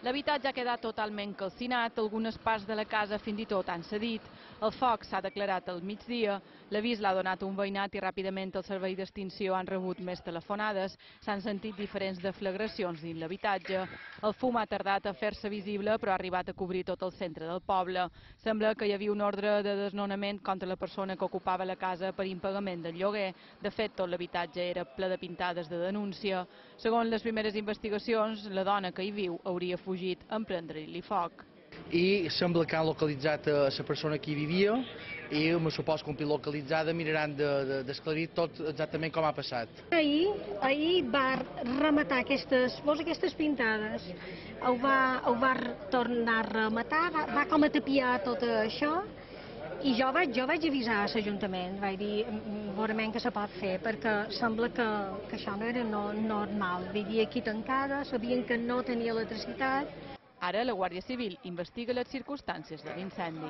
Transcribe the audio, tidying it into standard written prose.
L'habitatge ha quedat totalment calcinat, algunes parts de la casa fins i tot han cedit. El foc s'ha declarat al migdia, l'avís l'ha donat un veïnat i ràpidament el servei d'extinció han rebut més telefonades. S'han sentit diferents deflagracions dins l'habitatge. El fum ha tardat a fer-se visible però ha arribat a cobrir tot el centre del poble. Sembla que hi havia un ordre de desnonament contra la persona que ocupava la casa per impagament del lloguer. De fet, tot l'habitatge era ple de pintades de denúncia. Segons les primeres investigacions, la dona que hi viu hauria fugit en prendre-li foc. I sembla que han localitzat la persona que hi vivia i me suposo que un cop localitzada miraran d'esclarir tot exactament com ha passat. Ahir va rematar aquestes pintades, ho va tornar a rematar, va com a tapiar tot això i jo vaig avisar a l'Ajuntament, vaig dir veurem què se pot fer perquè sembla que això no era normal, vivia aquí tancada, sabien que no tenia electricitat. Ara la Guàrdia Civil investiga les circumstàncies de l'incendi.